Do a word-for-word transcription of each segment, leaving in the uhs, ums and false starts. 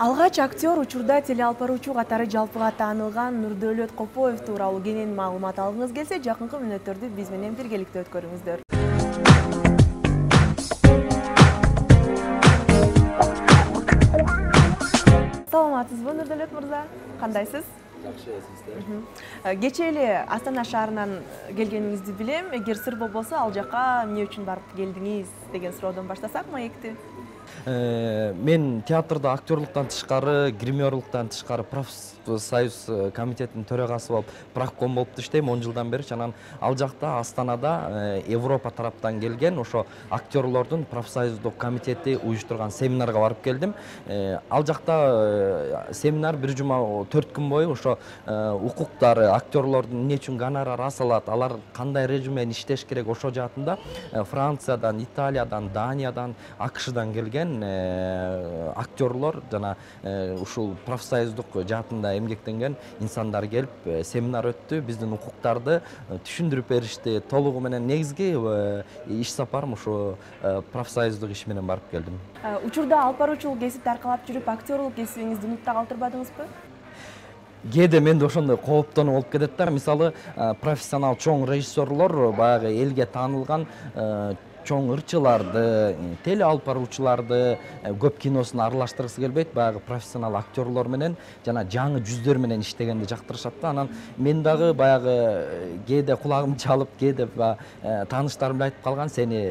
Алгач актер учурда телеалпаруучу катары жалпыга таанылган Нурдөөлөт Копоев тууралуу кенен маалымат алгыңыз келсе, жакынкы мүнөттөрдү биз менен биргеликте өткөрүңүздөр. Саламатсызбы, Нурдөөлөт мырза? Кандайсыз? Жакшы, сиздер. Кечээ эле Астана шаарынан келгениңизди билем. Эгер сыр болбосо, ал жака эмне үчүн барып келдиңиз деген суроодон баштасак маекти? Мен театрда актерлуктан тышкары, гримерлуктан тышкары профсоюз комитетинин төрагасы болуп, правком болуп иштейм он жылдан бери. Анан ал жакта Астанада Европа тараптан келген ошо актерлордун профсоюздук комитети уюштурган семинарга барып келдим. Ал жакта семинар бир жума төрт күн бою ошо укуктары, актерлордун эмне үчүн гонорар асалат, алар кандай режим менен иштеш керек, ошо жаатында Франциядан, Италиядан, Даниядан, АКШдан келген актерлор жана ушул профсоюздук жаатында эмгектенген инсандар келип семинар өттү, биздин укуктарды түшүндүрүп беришти. Толугу менен негизги иш сапарым ушу профсоюздук иш менен барып келдим. Учурда алпаруучулук кесипти аркалап жүрүп, актерлук кесибиңизди унутта калтырбадыңызбы? Кээде менде ошондой кооптонуу болуп кетет да. Мисалы, профессионал чоң режиссерлор баягы элге таанылган чоң ырчыларды, телеалпаруучуларды көп киносуна аралаштыргысы келбейт, баягы профессионал актерлор менен жана жаңы жүздөр менен иштегенди жактырышат да. Анан мен дагы баягы кээде кулагымды чалып, кээде тааныштарым айтып калган, сени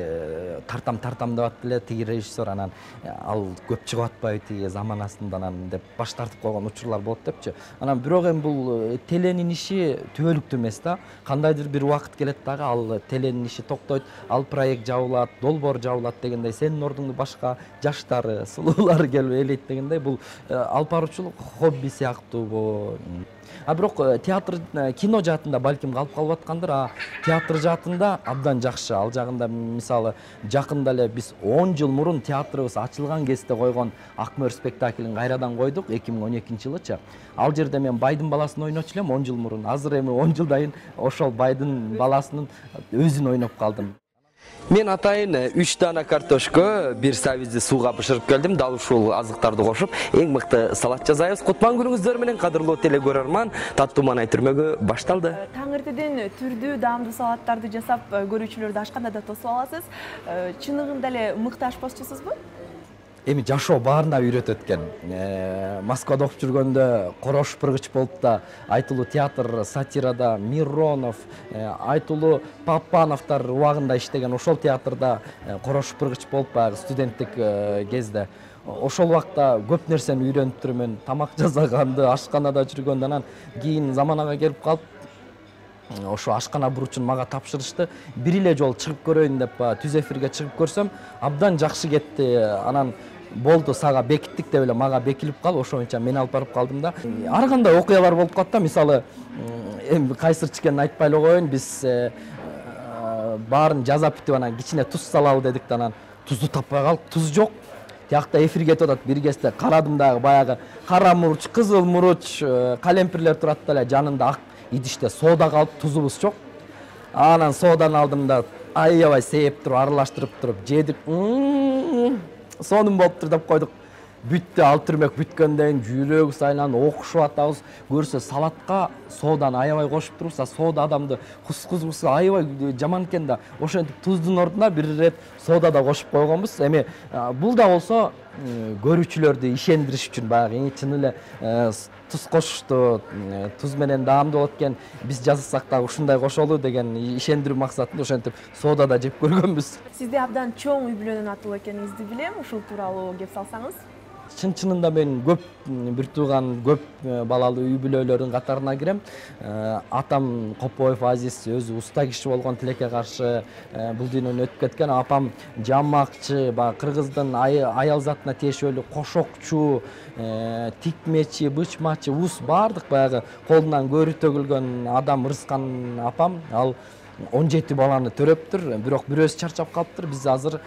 тартам тартам деп аттыле тиги режиссер, анан ал көп чыгып атпайбы тиги заманасында анан деп баш тартып койгон учурлар болот депчи. Анан бирок эми бул теленин иши түбөлүктүү эмес да. Кандайдыр бир убакыт келет дагы, ал теленин иши токтойт, ал проект жабылат, долбоор жабылат дегендей, сенин ордуңду башка жаштары, сулуулары келип ээлейт дегендей, бул алпаруучулук хобби сыяктуу. А бирок театр, кино жаатында балким калып калып аткандыр, а театр жаатында абдан жакшы. Ал жагында мисалы жакында эле биз он жыл мурун театрыбыз ачылган кезде койгон Акмөр спектаклин кайрадан койдук, эки миң он экинчи жылычы. Ал жерде мен байдын баласын ойночу элем он жыл мурун. Азыр эми он жылдан кийин ошол байдын баласынын өзүн ойноп калдым. Мен атайын үч дана картошка, бир сабизди сууга бышырып келдим. Дал ушул азыктарды кошуп, эң мыкты салат жасайбыз. Кутман күнүңүздөр менен, кадырлуу телекөрөрман. Таттуу маанай түрмөгү башталды. Таң эртеден түрдүү, даамдуу салаттарды жасап, көрүүчүлөрдү ачканда да тосуп аласыз. Чыныгында эле мыкты ашпозчусузбу? Эми жашоо баарына үйрөтөт экен. Москвада окуп жүргөндө Корош Пыргыч болуп да, айтылуу театр, сатирада Миронов, айтылуу Папановдор убагында иштеген ошол театрда Корош Пыргыч болуп баягы студенттик кезде. Ошол убакта көп нерсени үйрөнүп жүрмүн. Тамак жасаганды, ашканада жүргөндө, анан кийин заманага келип калып, ошо ашкана бурчун мага тапшырышты. Бир эле жол чыгып көрөйүн деп түз эфирге чыгып көрсөм, абдан жакшы кетти. Анан болду, сага бекиттик деп эле мага бекилип кал, ошончо мен алып барып калдым да. Ар кандай окуялар болуп калат да. Мисалы, эми кайсыр чекенин айтпай эле коеюн, биз баарын жазап бүтүп анан кичине туз салалы дедик да, анан тузду таппай калдык, туз жок. Тиякта эфир кетип атат, бир кезде карадым дагы, баягы кара муруч, кызыл муруч, калемпирлер турат да эле, жанында ак идиште сода калып, тузубуз жок. Анан соданы алдым да, аябай сээп туруп, аралаштырып туруп жедик. Сонун болуптур деп койдук. Бүттү, ал түрмөк бүткөндөн жүрөгүбүз айланып окушуп атабыз. Көрсө салатка соданы аябай кошуп турубуз, сода адамды кускузбуз, аябай жаман экен да. Ошентип туздун ордуна бир ирет сода да кошуп койгонбуз. Эми бул да болсо көрүүчүлөрдү ишендириш үчүн баягы чын эле туз кошушту, туз менен даамдуу болот экен, биз жасасак да ушундай кошолу деген ишендирүү максатында ошентип сода да жеп көргөнбүз. Сизде абдан чоң үй бүлөнүн аттуу экениңизди билем. Ушул тууралуу кеп салсаңыз? Чын-чынында мен көп бир тууган, көп балалуу үй бүлөлөрдүн катарына кирем. Атам Копоев Азиз өзү уста киши болгон, тилекке каршы бул дүйнөнү өтүп кеткен. Апам жамакчы, баягы кыргыздын аял затына тиешелүү кошокчу, тикмечи, бычмачы, ус бардык баягы колунан көрү төгүлгөн адам ырыскан апам. Ал он жети баланы төрөптүр, бирок бирөөсү чарчап калыптыр. Биз азыр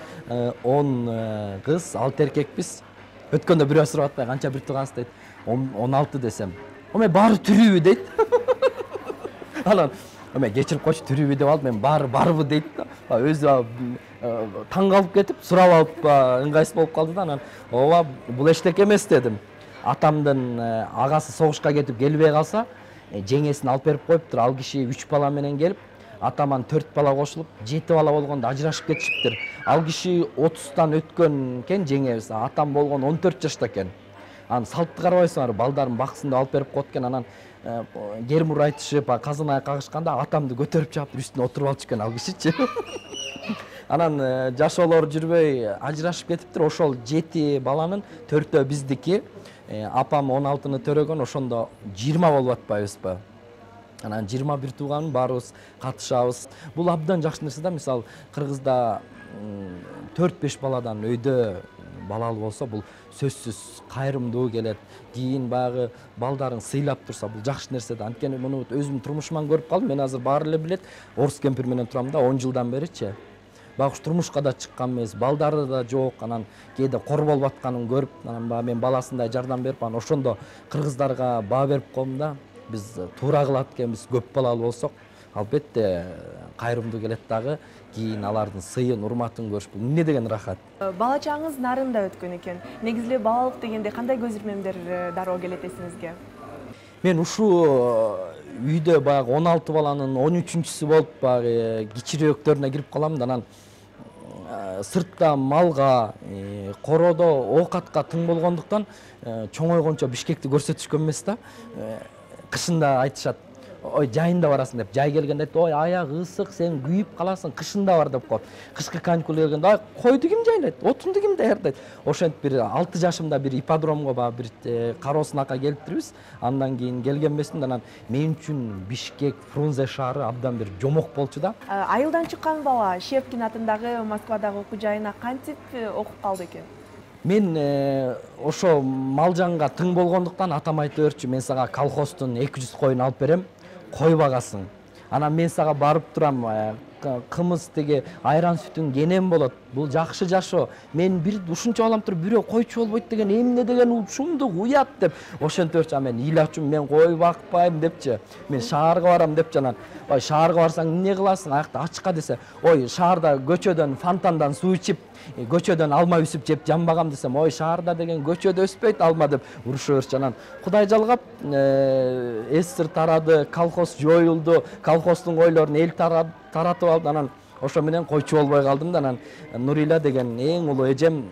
он кыз, алты эркекпиз. Өткөндө бирөө сурап атпай, канча бир туугансыз дейт. он алты десем. Оме баары түрүүбү дейт. Анан, оме кечирип койчу, түрүүбү деп алып, мен баары барбы дейт да. Өзү таң калып кетип, сурап алып ыңгайсыз болуп калды да. Анан, ооба, бул эчтеке эмес дедим. атамдын агасы согушка кетип келбей калса, жеңесин алып берип коюптур. Ал киши үч бала менен келип, атаман төрт бала кошулуп, жети бала болгондо ажырашып кетишиптир. Ал киши отуздан өткөн экен жеңебиз, атам болгон он төрт жашта экен. Анан салтты карабайсыңар, балдарын баксын деп алып берип коет экен. Анан гермур айтышып, казынай кагышканда атамды көтөрүп чыгып үстүнө отуруп алчу экен ал кишичи. Анан жашоолор жүрбөй ажырашып кетиптир. Ошол жети баланын төртөө биздики. Апам он алтыны төрөгөн, ошондо жыйырма болуп атпайбызбы? Анан жыйырма бир тууган баарыбыз катышабыз. Бул абдан жакшы нерсе да. Мисалы, Кыргызда төрт беш баладан өйдө балалуу болсо, бул сөзсүз кайрымдуу келет. Кийин баягы балдарын сыйлап турса, бул жакшы нерсе да. Анткени муну өзүм турмушуман көрүп калдым. Мен азыр баары эле билет, орус кемпир менен турам да, он жылдан беричи. Багыш турмушка да чыккан эмес, балдары да жок. Анан кээде кор болуп атканын көрүп, анан баягы мен баласындай жардам берип, анан ошондо кыргыздарга баа берип коем да. Биз туура кылат экенбиз, көп балалуу болсок, албетте кайрымдуу келет дагы. Кийин алардын сыйын, урматын көрүш бул эмне деген рахат. Бала чагыңыз нарында өткөн экен. Негизи эле балалык дегенде кандай көз ирмемдер дароо келет эсиңизге? Мен ушул үйдө баягы он алты баланын он үчүнчүсү болуп, баягы кичирөөктөрүнө кирип калам да, анан сыртта малга, кородо оокатка тың болгондуктан чоңойгончо Бишкекти көрсөтүшкөн эмес да. Кышында айтышат, ой жайында барасың деп, жай келгенде айтып, ой аяк ысык, сен күйүп каласың, кышында бар деп коет. Кышкы каникул келгенде, ай койду ким жайлайт, отунду ким даярдайт? Ошентип бир алты жашымда бир ипподромго баягы бир кароосунака келиптирбиз. Андан кийин келген эмесмин, анан мен үчүн Бишкек, Фрунзе шаары абдан бир жомок болчу да. Айылдан чыккан бала Шевкин атындагы Москвадагы окуу жайына кантип окуп калды экен? Мен ошо малжанга тың болгондуктан атам айтып берчү, мен сага колхоздун эки жүз коюн алып берем, кой багасың. Анан мен сага барып турам, кымыз теге айран сүтүң кенен болот. Бул жакшы жашоо. Мен бир ушунча балам туруп бирөө койчу болбойт деген эмне деген ушундук уят деп ошентип берчү. Мен ыйлачум, мен кой бакпайм депчи. Мен шаарга барам депчи. Анан ой шаарга барсаң эмне кыласың? Аякта ачка десе, ой шаарда көчөдөн фонтандан суу ичип, көчөдөн алма үсүп жеп жамбагам десем, ой шаарда деген көчөдө өспөйт алма деп уруша берчү. Анан Кудай жалгап, СССР тарады, колхоз жоюлду, колхоздун койлорун эл таратып алды. Анан ошо менен койчу болбой калдым да. Анан Нурила деген эң улуу эжем,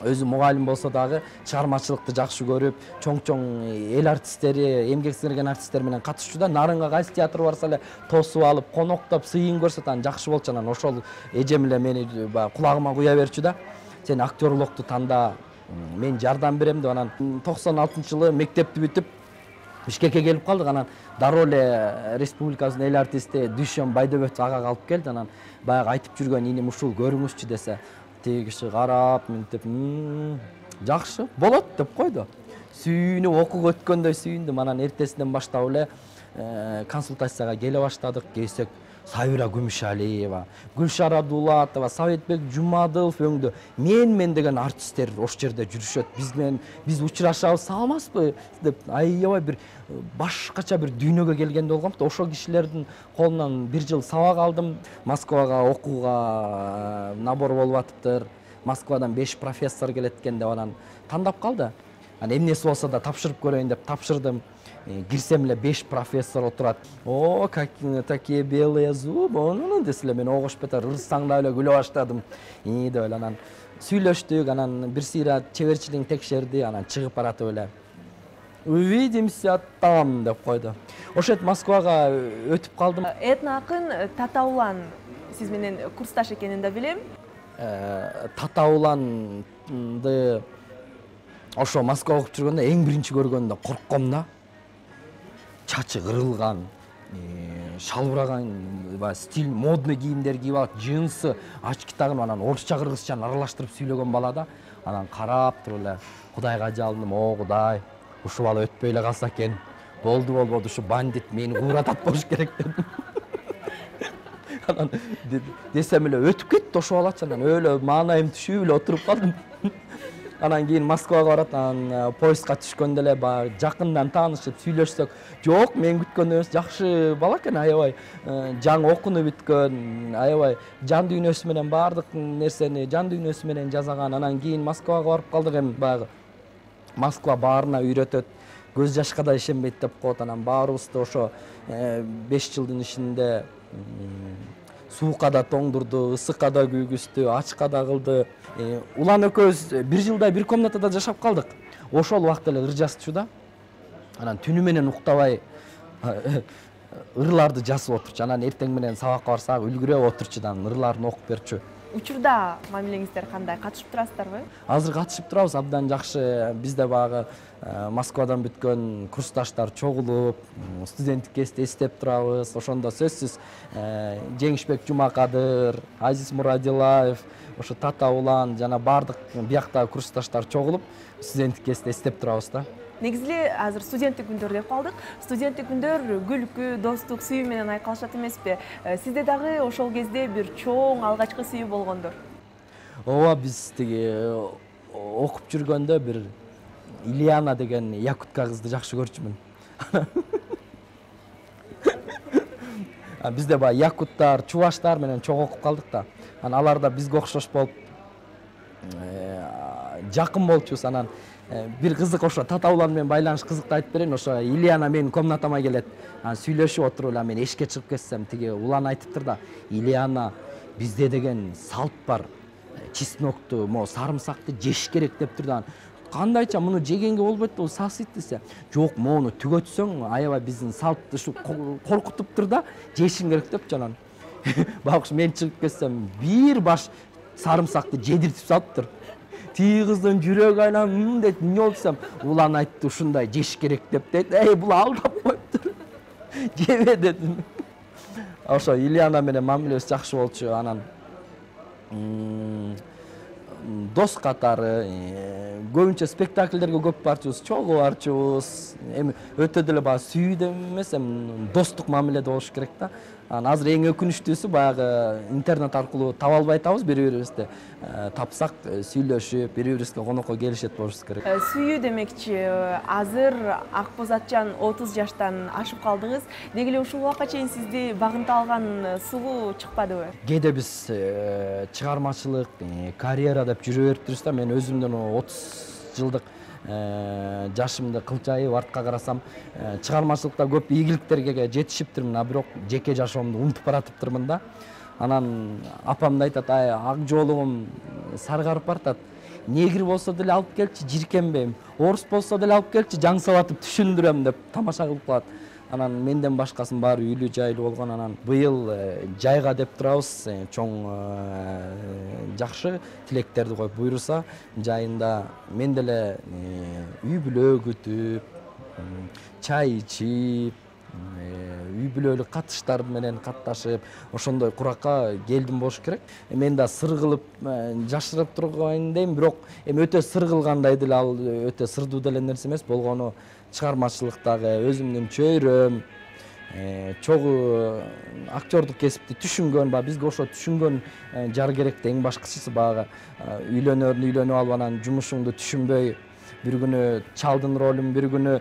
өзү мугалим болсо дагы чыгармачылыкты жакшы көрүп, чоң-чоң эл артисттери, эмгек сиңирген артисттер менен катышчу да. Нарынга кайсы театр барса эле тосуп алып, коноктоп, сыйын көрсөтөт, анан жакшы болчу. Анан ошол эжем эле мени баягы кулагыма куя берчү да. Сен актерлукту танда, мен жардам берем деп. Анан токсон алтынчы жылы мектепти бүтүп Бишкекке келип калдык. Анан дароо эле республикабыздын эл артисти Дүйшөн Байдөбөтов агага алып келди. Анан баягы айтып жүргөн иним ушул көрүңүзчү десе, тиги киши карап, мынтип, жакшы болот деп койду. Сүйүнүп окууга өткөндөй сүйүндүм. Анан эртесинен баштап эле консультацияга келе баштадык. Келсек, Сайра Күмүшалиева, Гүлшара Дулатова, Советбек Жумадылов өңдө мен мен деген артисттер ошол жерде жүрүшөт. Биз менен биз учурашабыз, саламатсызбы деп аябай бир башкача бир дүйнөгө келгенде болгом да. Ошол кишилердин колунан бир жыл сабак алдым. Москвага окууга набор болуп атыптыр. Москвадан беш профессор келет экен деп анан тандап калды. Анан эмнеси болсо да тапшырып көрөйүн деп тапшырдым. Кирсем эле беш профессор отурат. О, какие такие белые зубы. Onu десе эле мен огошуп бетер ырсаңдап эле күлө баштадым. И деп эле анан сүйлөштүк, анан бир сыйра чеберчилигин текшерди, анан чыгып баратып эле увидимся там деп койду. Ошентип Москвага өтүп калдым. Этно акын Татаулан сиз менен курсташ экенин да билем. Татауланды ошо Москвага окуп жүргөндө эң биринчи көргөндө коркком да. Чачы кырылган, шалбыраган, стиль, модный кийимдер кийип алат, джинсы, очки тагып, анан орусча кыргызчаны аралаштырып сүйлөгөн бала да. Анан карап туруп эле Кудайга жалындым, о Кудай, ушул бала өтпөй эле калса экен. Болду болбоду, ушу бандит мени кууратат болуш керек дедим. Анан десем эле өтүп кетти ошол балачы, анан өлө маанайым түшүп эле отуруп калдым. Анан кийин Москвага барат, анан поездга түшкөндө эле баягы жакындан таанышып сүйлөшсөк, жок, мен күткөн эмес, жакшы бала экен, аябай жаңы окууну бүткөн, аябай жан дүйнөсү менен баардык нерсени жан дүйнөсү менен жасаган. Анан кийин Москвага барып калдык, эми баягы Москва баарына үйрөтөт, көз жашка да ишенбейт деп коет. Анан баарыбызды ошо беш жылдын ичинде суукка да тоңдурду, ысыкка да күйгүздү, ачка да кылды. Улан экөөбүз бир жылдай бир комнатада жашап калдык. Ошол убакыт эле ыр жазчу да. Анан түнү менен уктабай ырларды жазып отурчу. Анан эртең менен сабакка барсак үлгүрөп отурчу да ырларын окуп берчү. Учурда мамилеңиздер кандай? Катышып турасыздарбы? Азыр катышып турабыз, абдан жакшы. Бизде баягы Москвадан бүткөн курсташтар чогулуп, студенттик кезди эстеп турабыз. Ошондо сөзсүз Жеңишбек Жумакадыр, Азиз Мурадилаев, ошо Тата Улан жана бардык бияктагы курсташтар чогулуп, студенттик кезди эстеп турабыз да. Негизи эле азыр студенттик күндөр деп калдык. Студенттик күндөр күлкү, достук, сүйүү менен айкалышат эмеспи? Сизде дагы ошол кезде бир чоң алгачкы сүйүү болгондор. Ооба, биз тиги окуп жүргөндө бир Ильяна деген якутка кызды жакшы көрчүмүн. Бизде баягы якуттар, чуваштар менен чоң окуп калдык да. Анан алар да бизге окшош болуп жакын болчубуз. Анан бир кызык ошо Тата Улан менен байланыш кызыкты айтып берейин. Ошо Ильяна менин комнатама келет. Анан сүйлөшүп отуруп эле мен эшикке чыгып кетсем, тиги Улан айтыптыр да: "Ильяна, бизде деген салт бар. Чеснокту, мо сарымсакты жеш керек" дептир да. Кандайча муну жегенге болбойт да, сасыйт десе. Жок, мону түгөтсөң, аябай биздин салтты ушу коркутуптур да, жешиң керек деп жанан. Бакшы мен чыгып кетсем, бир баш сарымсакты жедиртип салыптыр. Тиги кыздын жүрөгү айнап, дейт, эмне болду десем, Улан айтты, ушундай жеш керек деп дейт. Эй, бул алдап коюптур. Жебе дедим. Ошо Ильяна менен мамилебиз жакшы болчу. Анан дос катары көбүнчө спектакльдерге көп барчубуз, чогуу барчубуз. Эми өтө деле баягы сүйүүдө эмес, эми достук мамиледе болуш керек да. Анан азыр эң өкүнүчтүүсү баягы интернет аркылуу таба албай атабыз бири-бирибизди. Тапсак сүйлөшүп, бири-бирибизге конокко келишет болушубуз керек. Сүйүү демекчи, азыр Акбозатжан отуз жаштан ашып калдыңыз. Деги эле ушул убакка чейин сизди багынта алган сулуу чыкпадыбы? Кээде биз чыгармачылык, карьера деп жүрө бериптирбиз да. Мен өзүмдөн отуз жылдык жашымды кылчайып артка карасам, чыгармачылыкта көп ийгиликтерге жетишиптирмин, а бирок жеке жашоомду унутуп баратыптырмын да. Анан апам да айтат: "Ай, ак жоолугум саргарып баратат. Негир болсо деле алып келчи, жиркенбейм. Орус болсо деле алып келчи, жаңсабатып түшүндүрөм" деп тамаша кылып калат. Анан менден башкасын баары үйлүү жайлуу болгон. Анан быйыл жайга деп турабыз. Чоң жакшы тилектерди коюп буйруса, жайында мен деле үй бүлө күтүп, чай ичип, үй бүлөлүк катыштар менен катташып, ошондой куракка келдим болуш керек. Мен да сыр кылып жашырып турган дейм, бирок эми өтө сыр кылгандай деле ал өтө сырдуу деле нерсе эмес. Болгону чыгармачылыктагы өзүмдүн чөйрөм, чогуу актёрдук кесипти түшүнгөн, баягы бизге ошо түшүнгөн жар керек да. Эң башкычысы баягы үйлөнөрүн үйлөнүп алып, анан жумушуңду түшүнбөй, бир күнү чалдын ролун, бир күнү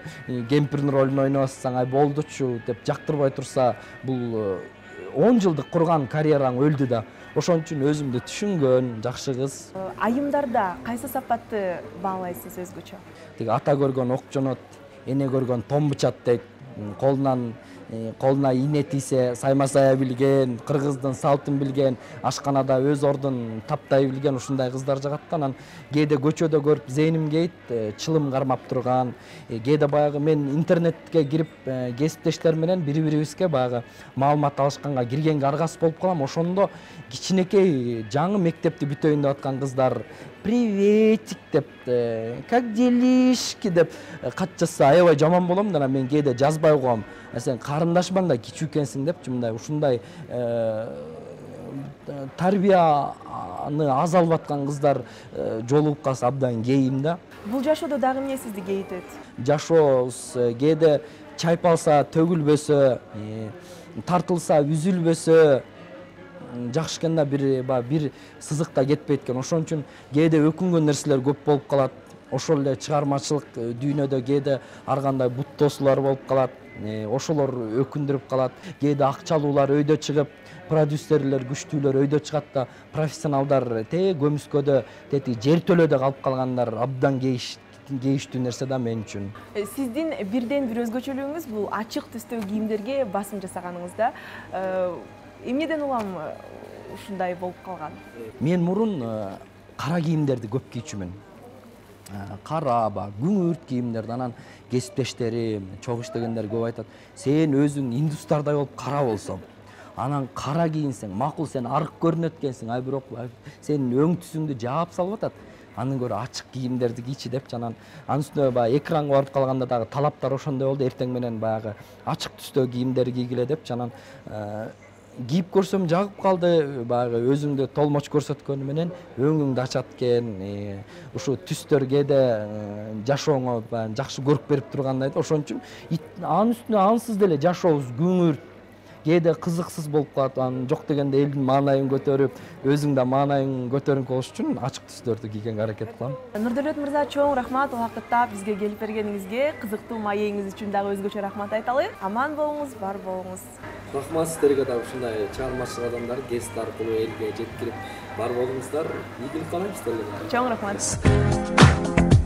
кемпирдин ролун ойнобасаң, ай болдучу деп жактырбай турса, бул он жылдык курган карьераң өлдү да. Ошон үчүн өзүмдү түшүнгөн жакшы кыз. Айымдарда кайсы сапатты баалайсыз өзгөчө? Тиги ата көргөн ок жонот, эне көргөн том бычат дейт. Колунан колуна ийне тийсе саймасая билген, кыргыздын салтын билген, ашканада өз ордун таптай билген ушундай кыздар жагат да. Анан кээде көчөдө көрүп зээним кейт, чылым кармап турган. Кээде баягы мен интернетке кирип кесиптештер менен бири-бирибизге баягы маалымат алышканга киргенге аргасыз болуп калам. Ошондо кичинекей жаңы мектепти бүтөйүн деп аткан кыздар приветик деп, как делишки деп кат жазса аябай жаман болом да. Мен кээде жазбай коем. Сен карындашмаң да кичүү экенсиң депчи, мындай ушундай тарбияны аз алып аткан кыздар жолугуп калса абдан кейим да. Бул жашоодо дагы эмне сизди кейитет? Жашообуз кээде чайпалса төгүлбөсө, тартылса үзүлбөсө жакшы экен да, бир бир сызыкта кетпейт экен. Ошон үчүн кээде өкүнгөн нерселер көп болуп калат. Ошол эле чыгармачылык дүйнөдө кээде ар кандай бут тосуулар болуп калат. Ошолор өкүндүрүп калат. Кээде акчалуулар өйдө чыгып, продюсерлер, күчтүүлөр өйдө чыгат да, профессионалдар те көмүскөдө, тети жер төлөдө калып калгандар абдан кейиш кейиштүү нерсе да мен үчүн. Сиздин бирден бир өзгөчөлүгүңүз бул ачык түстөгү кийимдерге басым жасаганыңызда. Эмнеден улам ушундай болуп калган? Мен мурун кара кийимдерди көп кийчүмүн. Кара, күңүрт кийимдерди. Анан кесиптештерим, чогуу иштегендер көп айтат: "Сен өзүң индустардай болуп кара болсоң, анан кара кийинсең, макул сен арык көрүнөт экенсиң, ай бирок сенин өң түсүңдү жаап салып атат. Андан көрө ачык кийимдерди кийчи" депчи. Анан анын үстүнө баягы экранга барып калганда дагы талаптар ошондой болду. Эртең менен баягы ачык түстөгү кийимдерди кийгиле депчи. Анан кийип көрсөм жагып калды. Баягы өзүңдү толмоч көрсөткөнү менен өңүңдү ачат экен. Ушу түстөр кээде жашооңо жакшы көрүп берип тургандай да. Ошон үчүн анын үстүнө ансыз деле жашообуз күңүрт, кээде кызыксыз болуп калат. Анан жок дегенде элдин маанайын көтөрүп, өзүң да маанайың көтөрүңкү болуш үчүн ачык түстөрдү кийгенге аракет кылам. Нурдөлөт мырза, чоң рахмат убакытта бизге келип бергениңизге. Кызыктуу маегиңиз үчүн дагы өзгөчө рахмат айталы. Аман болуңуз, бар болуңуз. Рахмат сиздерге дагы ушундай чыгармачыл адамдар гест аркылуу элге жеткирип бар болуңуздар. Ийгилик каалайм сиздерге. Чоң рахмат.